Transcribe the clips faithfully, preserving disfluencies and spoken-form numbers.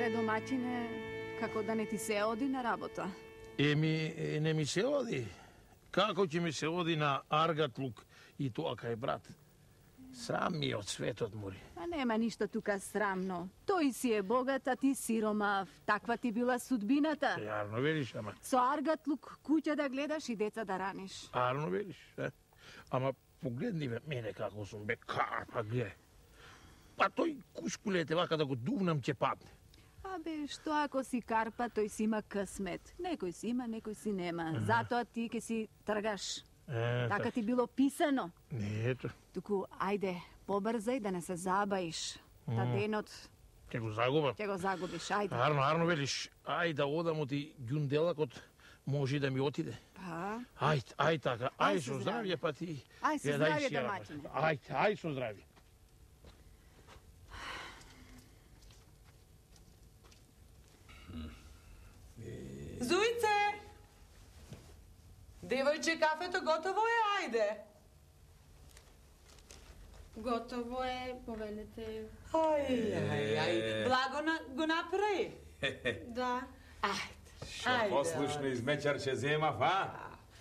бре, домаќине, како да не ти се оди на работа? Еми, не ми се оди. Како ќе ми се оди на аргатлук и тоа кај брат? Срам ми е од светот, мори. А нема ништо тука срамно. Тој си е богат, а ти сиромав. Таква ти била судбината. Јарно велиш, ама... Со аргатлук куќа да гледаш и деца да раниш. Арно велиш, е? Ама погледни бе мене како сум, бе, карпа, гле. Па тој кушкулете вака да го дувнам ќе падне. Абе, што ако си карпа, тој си има късмет. Некој си има, некој си нема. Затоа ти ке си тргаш. Е, Така ти било писано. Не, ето. Туку, ајде, побрзај да не се забаиш. Та денот Ќе го загубам. ќе го загубиш, ајде. Арно, арно велиш. Ај да одам од и ѓунделакот, може да ми отиде. Па, Ај, ај така, Ај ај со со здравје, па ти... Ај со гледај здравје, си ја, домаќине. Ај, ај со здравје. Зујце! Девојче, кафето готово е, ајде. Готово е, повелете. Ај, ај, ај. Благо на, го направи. Да. Ајде. Шо послушно измечарче земав, а?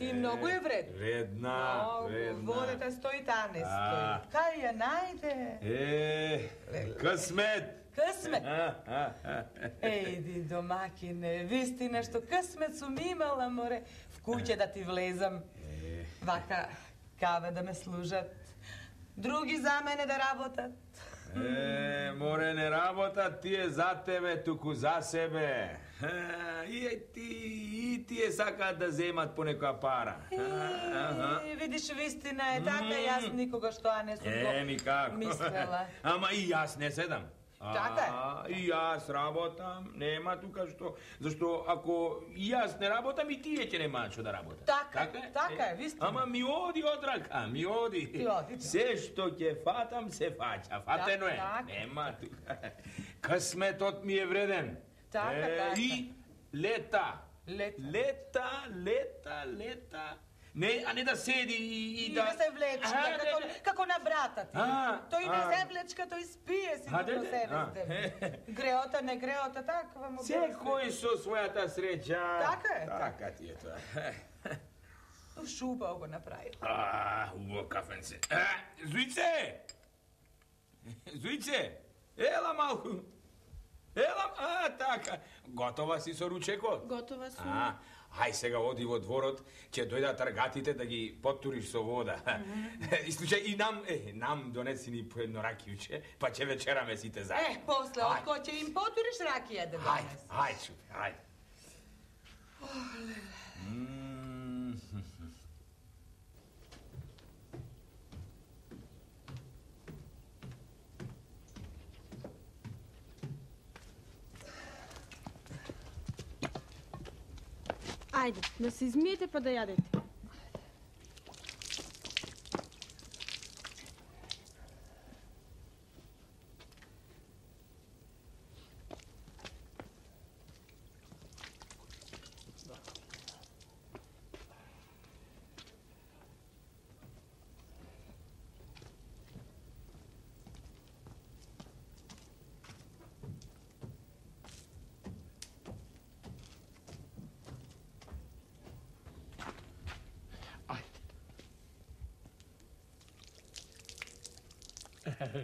И многу е вредно. Вредна, Многу. вредна. Водата стои, та не стои. А. Кај ја најде? Е, късмет. Късмет. А, а, а. Ејди, домакине, вистина што късмет сум имала, море. В куќе да ти влезам. Вака, каве да ме служат. Други за мене да работат. Е, море, не работат тие за тебе, туку за себе. А, и ти, и тие сакаат да земат по некоја пара. Е, видиш, вистина е така, јас никогаш тоа не сум го Е, никако. мислела. Ама и јас не седам. Така е. А, и јас работам, нема тука што, зашто ако и јас не работам, и тие ќе немаат што да работат. Така, така е, вистина. Ама ми оди од рака, ми оди. Ти оди, да. Се што ќе фатам, се фаќа. Фатено е. Така. Нема тука. Късметот ми е вреден. Така, Е, така. И лета. Лета. Лета, лета, лета. Не, а не да седи и, И да... да се влечка, А, како, не, не. како на брата ти. А, Тој не а. се влечка, тој спие си А, до де, де, себе а. сте. Греота, не греота, таква му Секој со својата среќа. Така е, Така ти е тоа. Шубаво го направи. А, убаво кафенце. А, Зујце! Зујце! Ела малку. Ела, а, така. Готова си со ручекот? Готова сум. А, ај сега оди во дворот, ќе дојдат тргатите да ги потуриш со вода. И случај и нам, е, нам донеси ни по едно ракијуче, па ќе вечераме сите заедно. Е, после, Ај. отко ќе им потуриш ракија да Ајде, донес. ајде, шупе, ајде. М, Ајде, да се измиете па да јадете.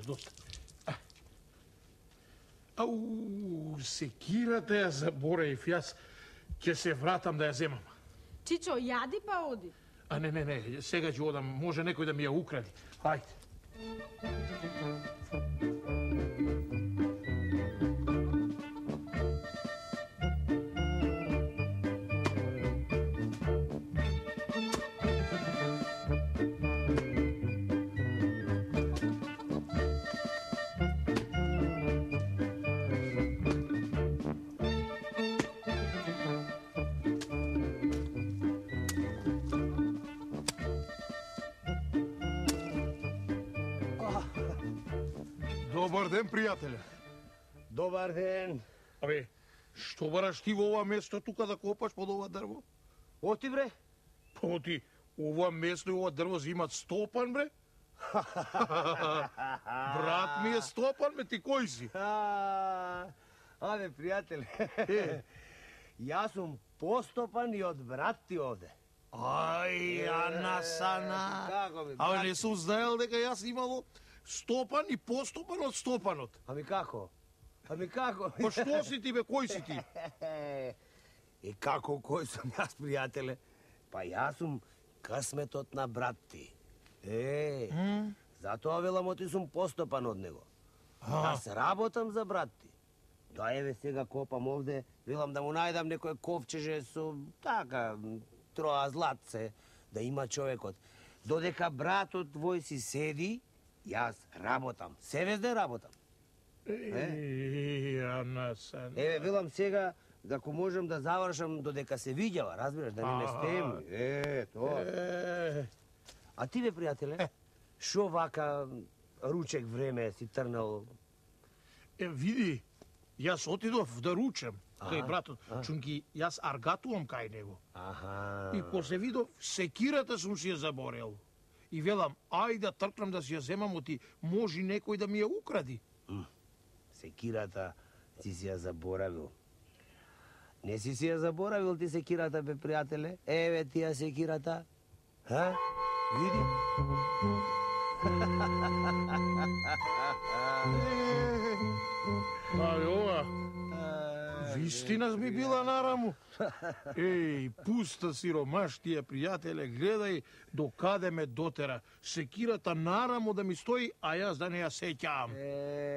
Доста. Ау, секирата ја забореив, јас ќе се вратам да ја земам. Чичо, јади па оди. А не, не, не, сега ќе одам, може некој да ми ја укради. Ајде. Добар ден, пријателе. Добар ден. Абе, што бараш ти во ова место тука да копаш под ова дрво? Оти бре? Па ти, ова место и ова дрво имат стопан, бре? Брат ми е стопан, бе, ти кој си? А, Абе, пријателе, јас сум постопан и од брат ти овде. Ај, Анасана. Како ми, Абе, брат? не сум знаел дека јас имало стопан и постопан од стопанот. Ами како? Ами како? Па што си ти, бе, кој си ти? И како кој сум јас, пријателе? Па јас сум късметот на брат ти. Е, затоа велам оти сум постопан од него. Јас работам за брат ти. Да, еве сега копам овде, велам да му најдам некој ковчеже со така троа златце да има човекот. Додека братот твој си седи, јас работам. Се ден работам. Е, Анасана. Еве, велам сега, ако можам да завршам додека се видјава, разбираш, да ни не стеми. Е, тоа. Е, А ти, бе, пријателе, шо вака ручек време си трнал? е, види, јас отидов да ручам кај братот, чунки јас аргатувам кај него. Аха. И после видов, секирата сум си ја заборел. И велам, ај да тркнам да си ја земам, оти може некој да ми ја укради. Секирата си си ја заборавил. Не си си ја заборавил ти секирата, бе, пријателе? Еве ти ја секирата. Ха? Види? Ај, ова, вистина ми била нараму. Еј, пуста сиромаштија, пријателе, гледај до каде ме дотера. Секирата нараму да ми стои, а јас да не ја сеќавам.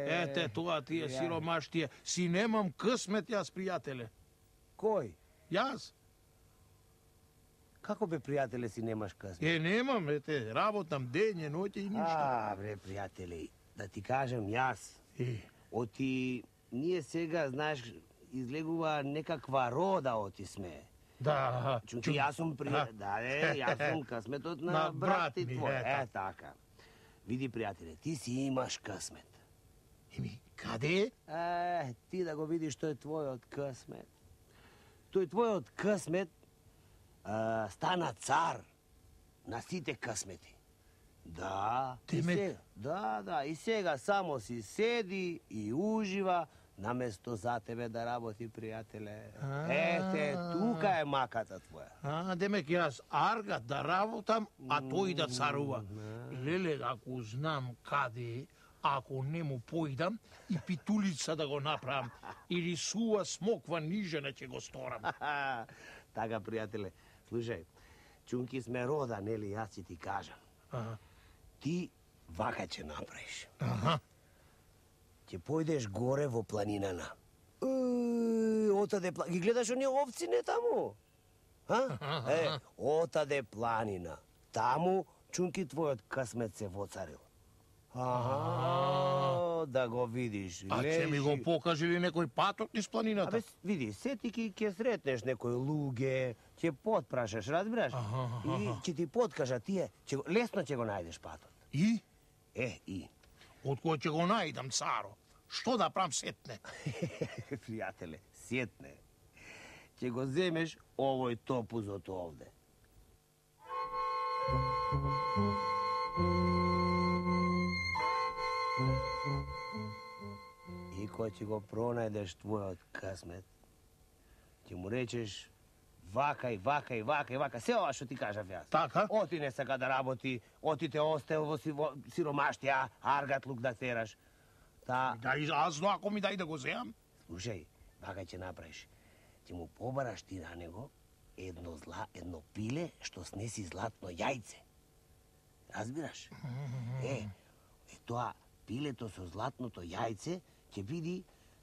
Ете, тоа ти е сиромаштија. Си немам късмет јас, пријателе. Кој? Јас? Како, бе, пријателе, си немаш късмет? Е, немам, ете, работам дење, ноќе и ништа. А, бре, пријателе, да ти кажам јас, Е, оти ние сега, знаеш, излегува некаква рода оти сме. да. Чунки јас сум при... А. Да, е, јас сум късметот на, На брат брат ти ми, твој. е, Е, така. Види, пријателе, ти си имаш късмет. Еми, каде? Е, ти да го видиш тој твојот късмет. Тој твојот късмет а, стана цар на сите късмети. Да, и Демек- сега, да, да, и сега само си седи и ужива, наместо за тебе да работи, пријателе. Ете, тука е маката твоја. А, демек јас аргат да работам, а тој да царува. Леле, ако знам каде е, ако не му појдам и питулица да го направам, или сува смоква нижена ќе го сторам. Така, пријателе, слушај, чунки сме рода, нели, јас ќе ти кажам. Аха. Ти вака ќе направиш. Аха. Ќе појдеш горе во планинана. Е, отаде пла... Ги гледаш оние овци не таму? А? Е, отаде планина. Таму, чунки твојот късмет се воцарил. Аха, да го видиш. А ќе ми го покаже ли некој патот низ планината? Абе, види, сетики ќе сретнеш некој луѓе, ќе потпрашаш, разбираш? И ќе ти подкажа тие, ќе, го- лесно ќе го најдеш патот. И? Е, и. Од кој ќе го најдам, царо? Што да правам сетне? Пријателе, сетне. Ќе го земеш овој топузот овде. И кој ќе го пронајдеш твојот късмет, ќе му речеш вака и вака и вака и вака, се ова што ти кажав јас. Така? Оти не сака да работи, оти те остел во, си, во сиромаштија, аргатлук да тераш. Та, Дај, аз ако ми дај да го земам. слушај, вака ќе направиш. Ќе му побараш ти на него едно зла, едно пиле што снеси златно јајце. Разбираш? Е, е тоа пилето со златното јајце ќе биде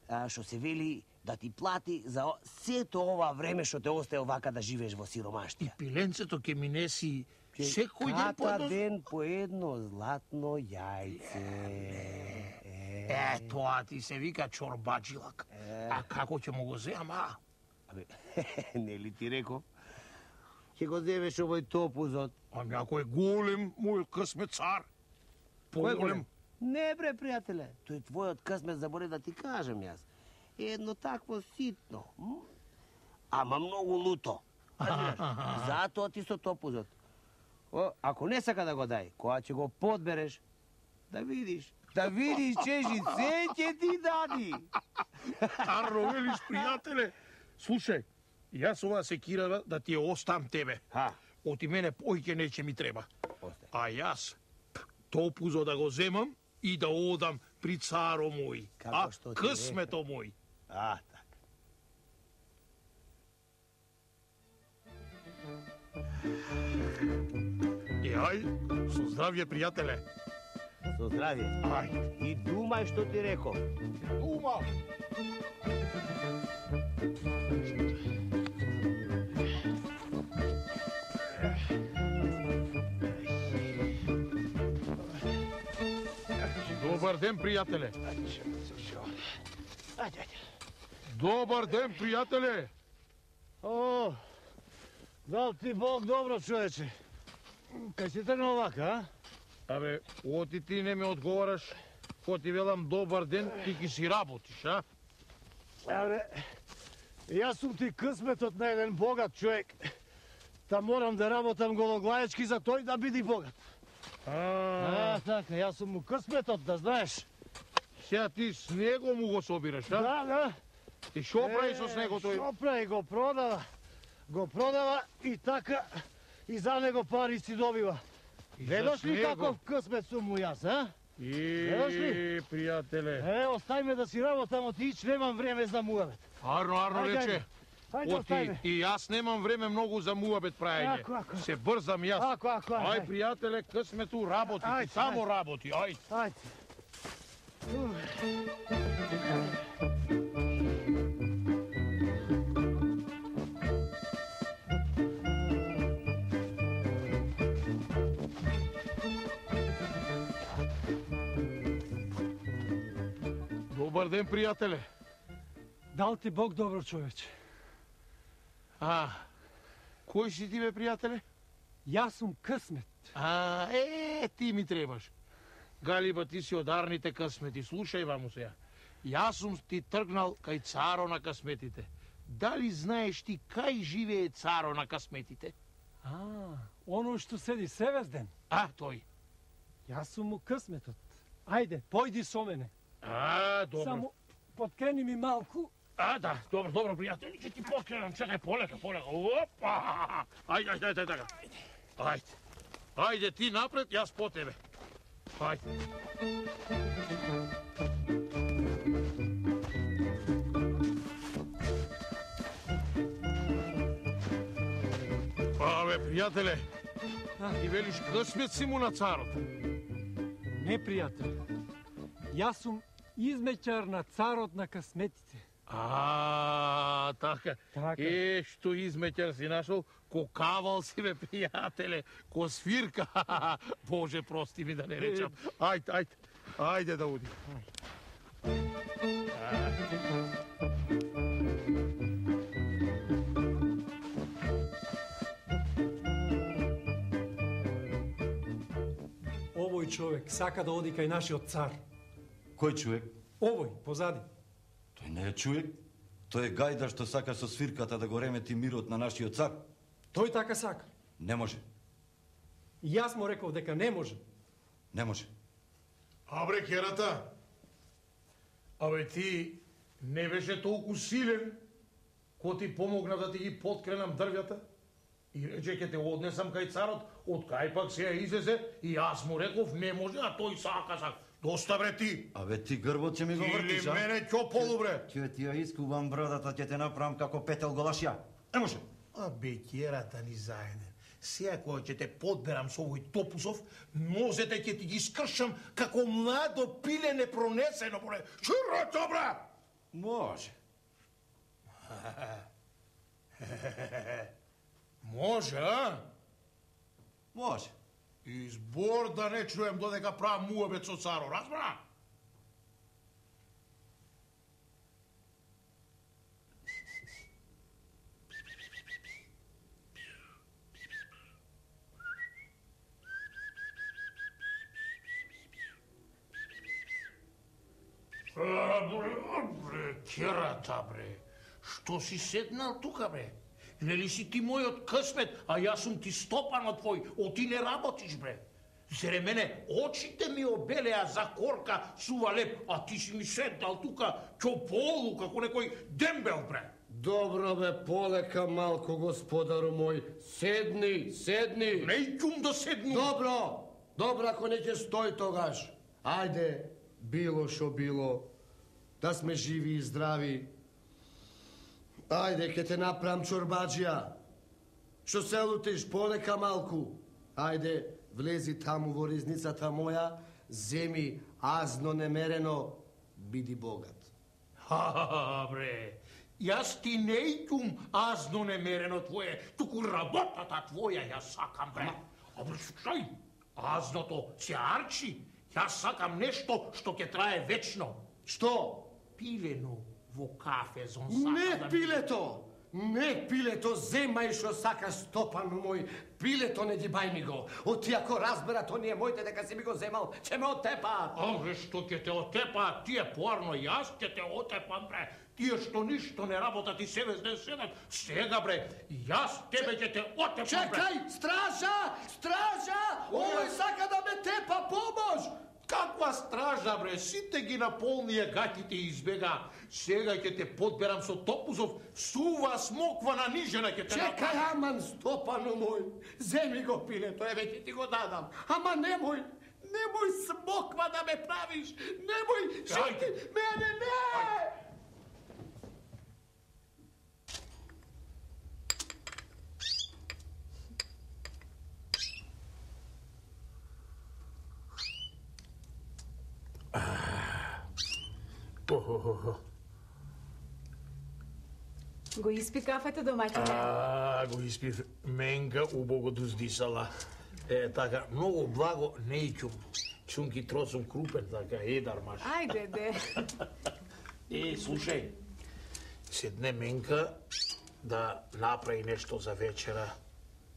а, што се вели да ти плати за о- сето ова време што те остае вака да живееш во И сиромаштија. пиленцето ќе ми неси секој ден по Ката едно... ден по едно златно јајце. Е, тоа ти се вика чорбаджилак. А како ќе му го земам, а? Абе, нели ти реков? Ќе го земеш овој топузот. Ами ако е голем, мој късмет цар. Кој е Поголем. Не, бре, пријателе. Тој твојот късмет заборев да ти кажам јас. Едно такво ситно. м? Ама многу луто. Разбираш? Затоа ти со топузот. О, ако не сака да го дај, кога ќе го подбереш, да видиш, Да видиш, чежи, се ќе ти дади. Арно велиш, пријателе. Слушај, јас ова секира да ти ја остам тебе. Ха. Оти мене поиќе нече ми треба. Остай. А јас топузо да го земам и да одам при царо мој. Како А што ти късмето мој. А, така. И ај, со здравје, пријателе. Со здравје. Ај, И думај што ти реков. ума. Добар ден, пријателе. Добар ден, пријателе. О, дал ти Бог добро, човече. Кај си тргнал вака, а? Абе, оти ти не ме одговараш, ко ти велам добар ден, ти ки си работиш, а? Абе, јас сум ти късметот на еден богат човек. Та морам да работам гологлаечки за тој да биде богат. А, А, така, јас сум му късметот, да знаеш. сега ти с него му го собираш, а? Да, да. И шо прави со него тој? Шо прави, го продава. Го продава и така, и за него пари си добива. И Ведош за ли него? каков късмет сум му јас, а? Гледаш И, ли? пријателе. Е, остави ме да си работам, отич, немам време за муавет. Арно, Арно Ајде, рече. Хајде, остави Оти, ме. и јас немам време многу за муабет прајање. Ако, ако. Се брзам јас. Ако, ако, ајде. Ај, пријателе, късмету работи, Ајде, ти само ајде. работи, ајде. Ајде. Добар ден, пријателе. Дал ти Бог добро, човече. А, кој си ти, бе, пријателе? Јас сум късмет. А, е, ти ми требаш. Галиба, ти си од арните късмети. Слушај, ваму сега. Јас сум ти тргнал кај царо на късметите. Дали знаеш ти кај живее царо на късметите? А, оно што седи Севезден. А, тој. Јас сум му късметот. Ајде, појди со мене. А, добро. Само подкрени ми малку. А, да, добро, добро, пријатели, ќе ти подкренам, чекај, полека, полека, опа! Ајде, ајде, ајде, така. Ајде, ајде, ти напред, јас по тебе. Ајде. Абе, пријателе, ти велиш късмет си му на царот. Не, пријател. Јас сум измеќар на царот на късметите. А, така. Така. Е, што измеќар си нашол, ко кавал си, бе, пријателе, ко свирка. Боже, прости ми да не речам. Ајде, ајде, ајде да уди. Овој човек сака да оди кај нашиот цар. Кој човек? Овој, позади. Тој не е човек. Тој е гајда што сака со свирката да го ремети мирот на нашиот цар. Тој така сака. Не може. И јас му реков дека не може. Не може. Абре, керата, абе ти не беше толку силен, ко ти помогна да ти ги подкренам дрвјата? И рече, ке те однесам кај царот, од кај пак се ја излезе, и јас му реков, не може, а тој сака, сака. Доста, бре, ти! Абе ти грбот ќе ми го вртиш, Или а? мене ќополу, бре! Ќе ти ја искувам бродата, ќе те направам како петел голашја. Не може. Абе, керата ни заеден. Сега кога ќе те подберам со овој топусов, нозете ќе ти ги скршам како младо пиле непронесено, бре! Широто, бре! Може. Може, а? Може. И збор да не чуем додека правам муабет со царо, разбра? А, бре, бре, керата, бре. Што си седнал тука, бре? Нели си ти мојот късмет, а јас сум ти стопанот твој, о ти не работиш, бре. Зере мене очите ми обелеа за корка сува леп, а ти си ми седнал тука чополу како некој дембел, бре. Добро бе, полека малко, господару мој. Седни, седни. Не икум да седну. Добро, добро, ако не ќе стои тогаш. Ајде, било шо било, да сме живи и здрави. Ајде, ке те направам чорбаджија. Шо се лутиш, полека малку. Ајде, влези таму во ризницата моја, земи азно немерено, биди богат. Ха, бре, јас ти не икум азно немерено твое, туку работата твоја јас сакам, бре. А бре, слушај, азното се арчи, јас сакам нешто што ќе трае вечно. Што? Пилено во кафе, зон сакам Не да... пилето! Не пилето, земај шо сакаш, Стопану мој. Пилето не ги бај ми го. Оти ако разберат оние моите дека си ми го земал, ќе ме отепаат. А, бре, што ќе те отепаат, тие порно, јас ќе те отепам, бре. Тие што ништо не работат и себе не седат, сега, бре, јас тебе ќе те отепам, бре. Чекај, стража! Стража! Овој сака да ме тепа, помош! Каква стража, бре, сите ги наполнија гатите и избега. Сега ќе те подберам со топузов, сува смоква на нижена ќе те направам. Чекај, аман, Стопану мој, земи го пилето, еве ќе ти го дадам. Ама немој, немој смоква да ме правиш, немој, шити, мене не! Го испи кафето, домаќине? А, го испив менга убого дуздисала. Е, така, многу благо не икум. Чунки тросум крупен, така, едар маш. Ајде, де. Е, слушај, седне менка да направи нешто за вечера,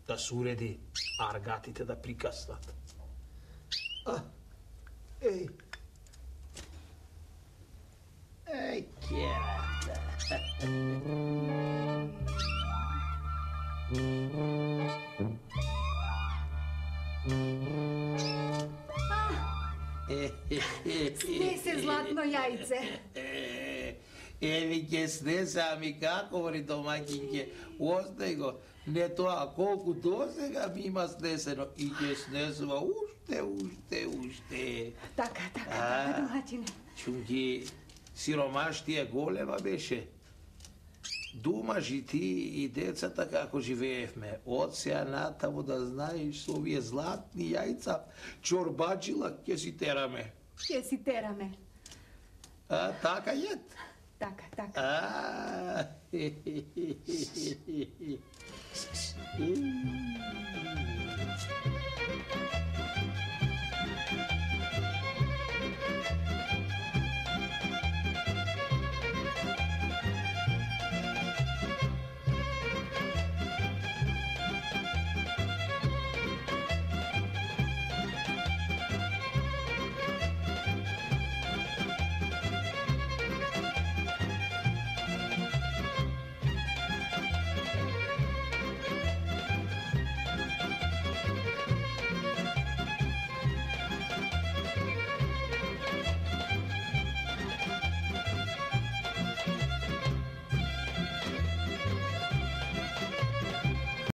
да се уреди, а аргатите да прикаснат. А, еј. Еј, керата. Снесе златно јајце. Еви ќе снесе, ами како, ври домакинке, остај го. Не тоа, колку досега ми има снесено и ќе снесува уште, уште, уште. Така, така, така, домаќине. Чунки, сиромаштија голема беше. Думаш и ти и децата како живеевме. Од сеја натаму да знаеш со овие златни јајца, чорбаджила ќе си тераме. Ќе си тераме. А, така јет? Така, така. А,